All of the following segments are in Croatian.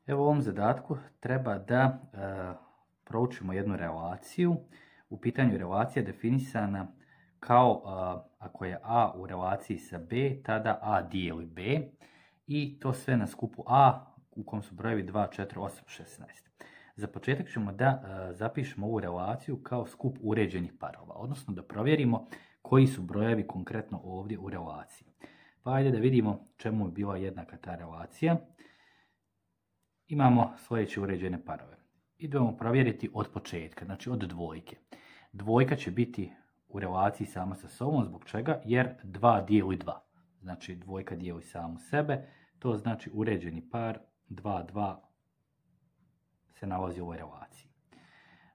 Evo u ovom zadatku treba da proučimo jednu relaciju. U pitanju relacija definisana kao ako je A u relaciji sa B, tada A dijeli B i to sve na skupu A u kom su brojevi 2, 4, 8, 16. Za početak ćemo da zapišemo ovu relaciju kao skup uređenih parova, odnosno da provjerimo koji su brojevi konkretno ovdje u relaciji. Pa ajde da vidimo čemu je bila jednaka ta relacija. Imamo sljedeće uređene parove. Idemo provjeriti od početka, znači od dvojke. Dvojka će biti u relaciji sama sa sobom, zbog čega? Jer 2 dijeli 2. Znači dvojka dijeli samu sebe, to znači uređeni par 2, 2 se nalazi u ovoj relaciji.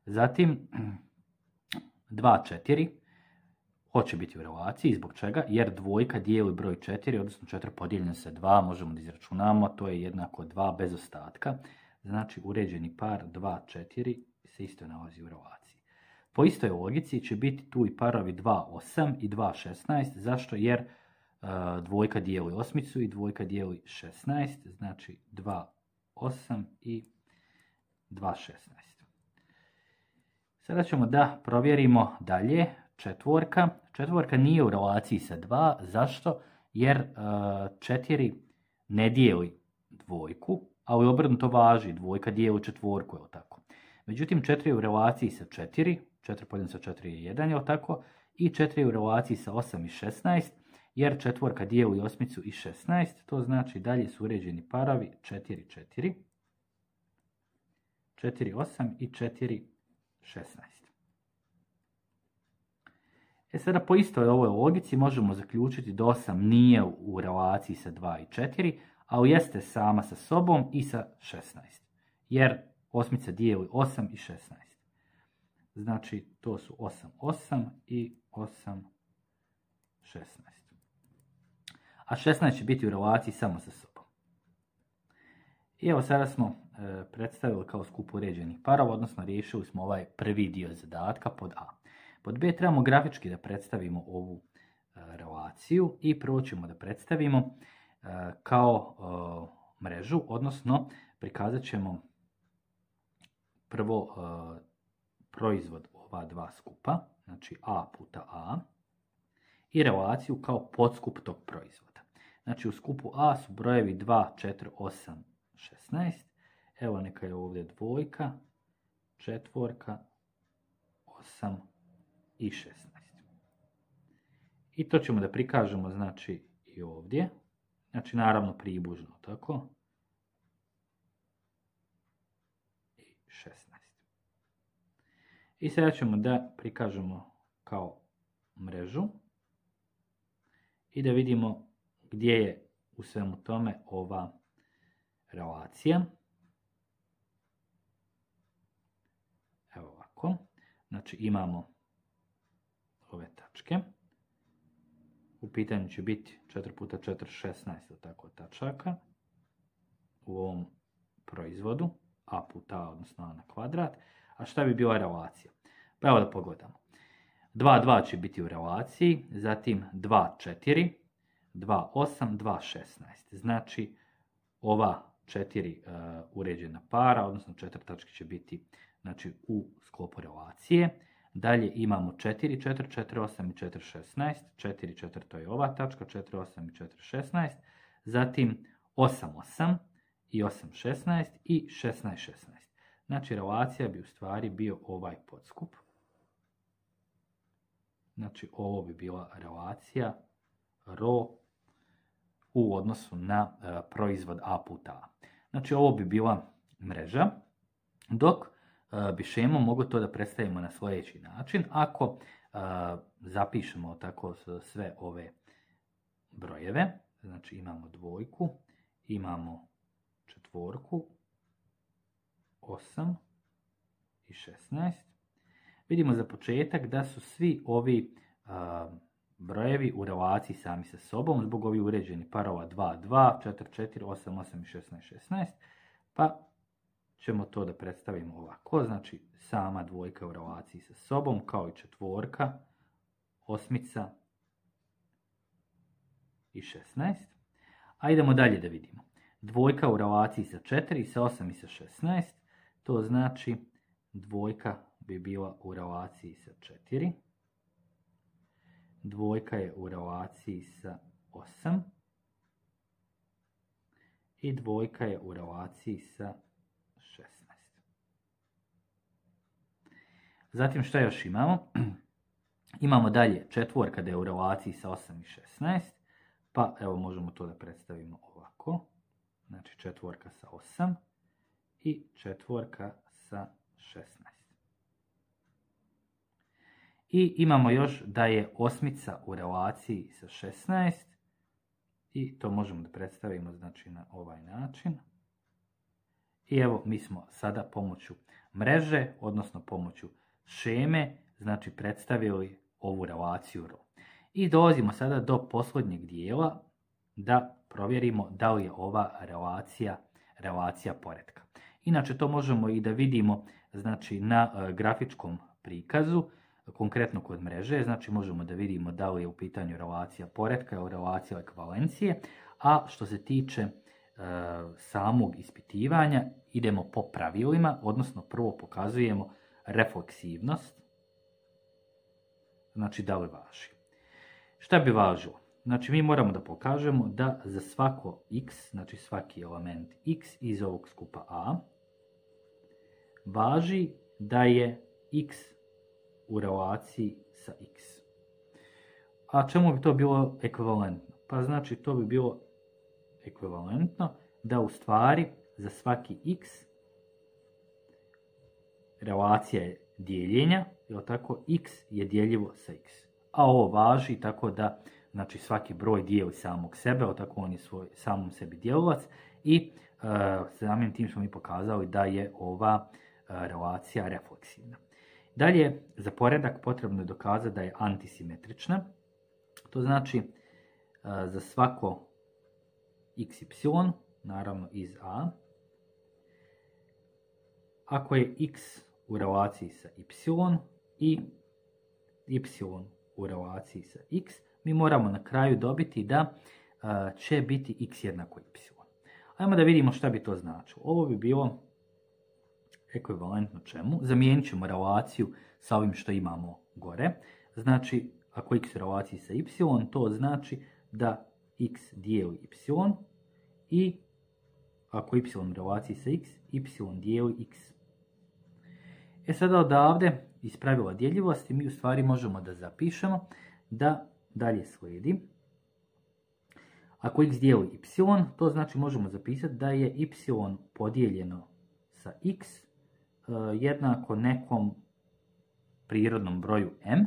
Zatim 2, 4 hoće biti u relaciji, zbog čega? Jer dvojka dijeli broj 4, odnosno 4 podijeljeno sa 2, možemo da izračunamo, to je jednako 2 bez ostatka. Znači uređeni par 2, 4 se isto nalazi u relaciji. Po istoj logici će biti tu i parovi 2, 8 i 2, 16. Zašto? Jer dvojka dijeli osmicu i dvojka dijeli 16, znači 2, 8 i 2, 16. Sada ćemo da provjerimo dalje. Četvorka. Četvorka nije u relaciji sa 2. Zašto? Jer 4 ne dijeli dvojku, ali obrnuto važi. Dvojka dijeli četvorku, je tako? Međutim, 4 je u relaciji sa 4. 4 podijeljeno sa 4 je 1, je tako? I 4 je u relaciji sa 8 i 16, jer četvorka dijeli osmicu i 16. To znači dalje su uređeni parovi 4, 4, 4, 8 i 4, 16. Sada po istoj ovoj logici možemo zaključiti da 8 nije u relaciji sa 2 i 4, ali jeste sama sa sobom i sa 16. Jer osmica dijeli 8 i 16. Znači to su 8, 8 i 8, 16. A 16 će biti u relaciji samo sa sobom. I evo sada smo predstavili kao skup uređenih parova, odnosno riješili smo ovaj prvi dio zadatka pod A. Pod B trebamo grafički da predstavimo ovu relaciju i prvo ćemo da predstavimo kao mrežu, odnosno prikazat ćemo prvo proizvod ova dva skupa, znači A puta A, i relaciju kao podskup tog proizvoda. Znači u skupu A su brojevi 2, 4, 8, 16. Evo neka je ovdje dvojka, četvorka, 8 i 16. I to ćemo da prikažemo, znači, i ovdje. Znači, naravno, približno, tako. I 16. I sada ćemo da prikažemo kao mrežu i da vidimo gdje je u svemu tome ova relacija. Evo ovako. Znači, imamo ove tačke. U pitanju će biti 4 puta 4, 16, tako tačaka u ovom proizvodu, A puta A, odnosno A na kvadrat. A šta bi bila relacija? Pa evo da pogledamo. 2, 2 će biti u relaciji, zatim 2, 4, 2, 8, 2, 16. Znači, ova 4 uređena para, odnosno 4 tačke će biti, znači, u sklopu relacije. Dalje imamo 4, 4, 4, 8 i 4, 16. 4, 4 to je ova tačka, 4, 8 i 4, 16. Zatim 8, 8 i 8, 16 i 16, 16. Znači relacija bi u stvari bio ovaj podskup. Znači ovo bi bila relacija ρ u odnosu na proizvod A puta A. Znači ovo bi bila mreža, dok bi šemom mogli to da predstavimo na sljedeći način. Ako zapišemo tako sve ove brojeve, znači imamo dvojku, imamo četvorku, 8 i 16. Vidimo za početak da su svi ovi brojevi u relaciji sami sa sobom, zbog ovih uređenih parova 2, 2, 4, 4, 8, 8 i 16, 16. Pa ćemo to da predstavimo ovako, znači sama dvojka u relaciji sa sobom, kao i četvorka, osmica i 16. A idemo dalje da vidimo. dvojka u relaciji sa 4, sa 8 i sa 16, to znači dvojka bi bila u relaciji sa 4, dvojka je u relaciji sa 8 i dvojka je u relaciji sa 16. Zatim šta još imamo? Imamo dalje četvorka da je u relaciji sa 8 i 16, pa evo možemo to da predstavimo ovako. Znači četvorka sa 8 i četvorka sa 16. I imamo još da je osmica u relaciji sa 16 i to možemo da predstavimo znači na ovaj način. I evo mi smo sada pomoću mreže, odnosno pomoću šeme, znači predstavili ovu relaciju RO. I dolazimo sada do posljednjeg dijela da provjerimo da li je ova relacija poretka. Inače to možemo i da vidimo znači, na grafičkom prikazu, konkretno kod mreže, znači možemo da vidimo da li je u pitanju relacija poretka ili relacija ekvivalencije, a što se tiče samog ispitivanja idemo po pravilima, odnosno prvo pokazujemo refleksivnost, znači da li važi. Šta bi važilo? Znači mi moramo da pokažemo da za svako x, znači svaki element x iz ovog skupa A, važi da je x u relaciji sa x. A čemu bi to bilo ekvivalentno? Pa znači to bi bilo ekvivalentno da u stvari za svaki x relacija je dijeljenja, jel tako, x je dijeljivo sa x. A ovo važi tako da znači svaki broj dijeli samog sebe, jel tako, on je samom sebi dijelilac i samim tim smo mi pokazali da je ova relacija refleksivna. Dalje, za poredak potrebno je dokazati da je antisimetrična. To znači za svako xy, naravno iz A, ako je x u relaciji sa y i y u relaciji sa x, mi moramo na kraju dobiti da će biti x jednako y. Ajmo da vidimo šta bi to značilo. Ovo bi bilo ekvivalentno čemu? Zamijenit ćemo relaciju sa ovim što imamo gore. Znači, ako x u relaciji sa y, to znači da x dijeli y i ako y u relaciji sa x, y dijeli x. Sada odavde iz pravila djeljivosti mi u stvari možemo da zapišemo da dalje slijedi. Ako x dijeli y, to znači možemo zapisati da je y podijeljeno sa x jednako nekom prirodnom broju m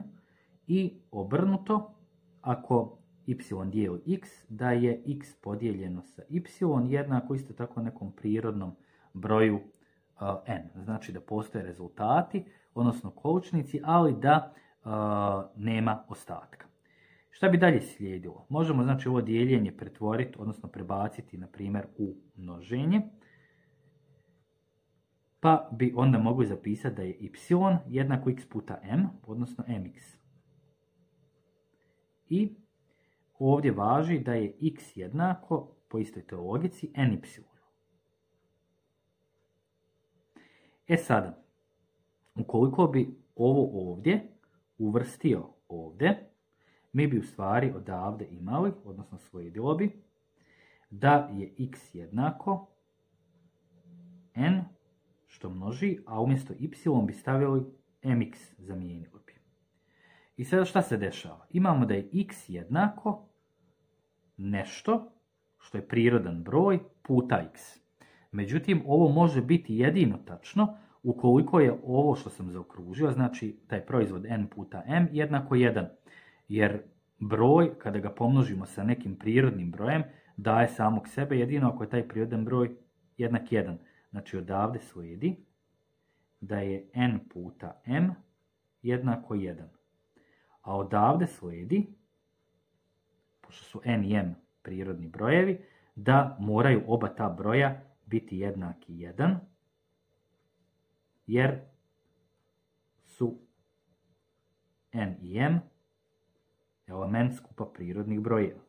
i obrnuto, ako y dijeli x, da je x podijeljeno sa y jednako isto tako nekom prirodnom broju n. Znači da postoje rezultati, odnosno količnici, ali da nema ostatka. Šta bi dalje slijedilo? Možemo znači ovo dijeljenje pretvoriti, odnosno prebaciti na primjer u množenje. Pa bi onda mogli zapisati da je y jednako x puta m, odnosno mx. I ovdje važi da je x jednako, po istoj toj logici, ny. Sada, ukoliko bi ovo ovdje uvrstio ovdje, mi bi u stvari odavde imali, odnosno slijedilo bi, da je x jednako n što množi, a umjesto y bi stavili mx, zamijenili bi. I sada šta se dešava? Imamo da je x jednako nešto što je prirodan broj puta x. Međutim, ovo može biti jedino tačno ukoliko je ovo što sam zaokružio, znači taj proizvod n puta m jednako 1. Jer broj, kada ga pomnožimo sa nekim prirodnim brojem, daje samog sebe jedino ako je taj prirodan broj jednak 1. Znači odavde slijedi da je n puta m jednako 1. A odavde slijedi, pošto su n i m prirodni brojevi, da moraju oba ta broja biti jednaki 1, jer su n i m element skupa prirodnih brojeva.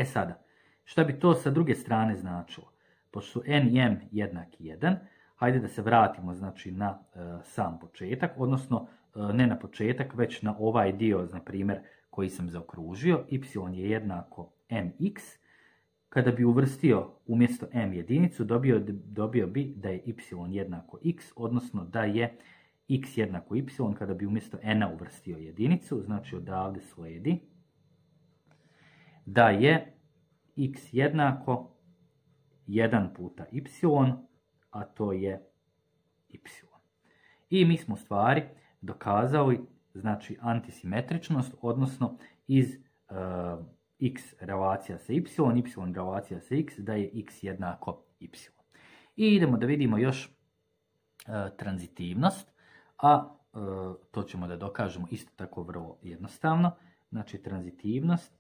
Sada, Šta bi to sa druge strane značilo? Pošto su n i m jednaki 1, hajde da se vratimo znači, na sam početak, odnosno ne na početak, već na ovaj dio, na primjer, koji sam zaokružio. Y je jednako mx. Kada bi uvrstio umjesto m jedinicu, dobio bi da je y jednako x, odnosno da je x jednako y, kada bi umjesto n uvrstio jedinicu, znači odavde slijedi da je x jednako 1 puta y, a to je y. I mi smo u stvari dokazali znači antisimetričnost, odnosno iz x relacija sa y, y relacija sa x, da je x jednako y. I idemo da vidimo još tranzitivnost, a to ćemo da dokažemo isto tako vrlo jednostavno. Znači tranzitivnost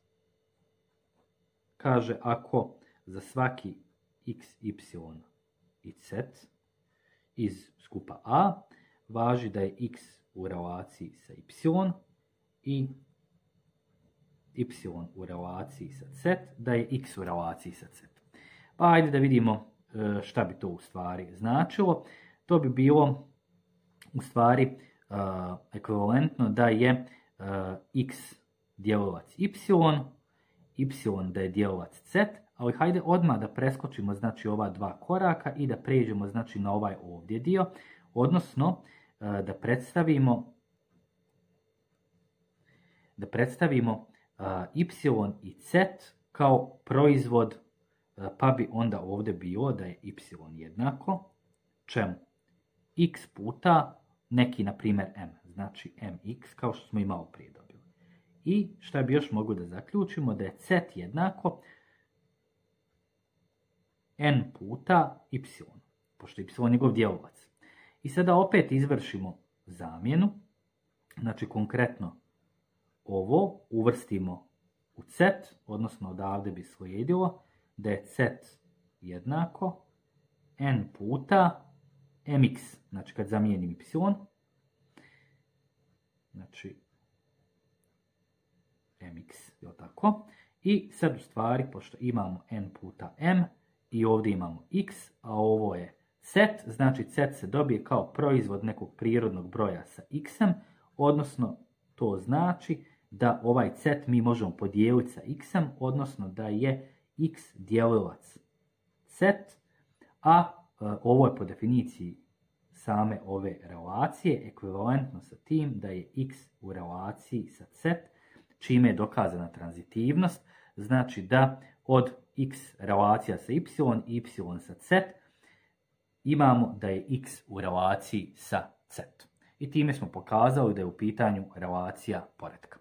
kaže ako za svaki x, y i z iz skupa A važi da je x u relaciji sa y i y u relaciji sa z, da je x u relaciji sa z. Pa ajde da vidimo šta bi to u stvari značilo. To bi bilo u stvari ekvivalentno da je x djelovac y, y da je djelovac z, ali hajde odmah da preskočimo znači ova dva koraka i da pređemo znači na ovaj ovdje dio, odnosno da predstavimo y i z kao proizvod, pa bi onda ovdje bilo da je y jednako čemu? X puta neki, na primjer, m, znači mx, kao što smo i malo prije dobili. I šta bi još mogli da zaključimo? Da je z jednako n puta y, pošto je y njegov djelovac. I sada opet izvršimo zamjenu, znači konkretno ovo uvrstimo u z, odnosno odavde bi slijedilo da je z jednako n puta mx, znači kad zamijenim y, znači mx, je tako? I sad u stvari, pošto imamo n puta m i ovdje imamo x, a ovo je z, znači z se dobije kao proizvod nekog prirodnog broja sa x-em, odnosno to znači da ovaj z mi možemo podijeliti sa x-em, odnosno da je x djelilac z, a ovo je po definiciji same ove relacije ekvivalentno sa tim da je x u relaciji sa z, čime je dokazana tranzitivnost, znači da od x relacija sa y i y sa z imamo da je x u relaciji sa z. I time smo pokazali da je u pitanju relacija poretka.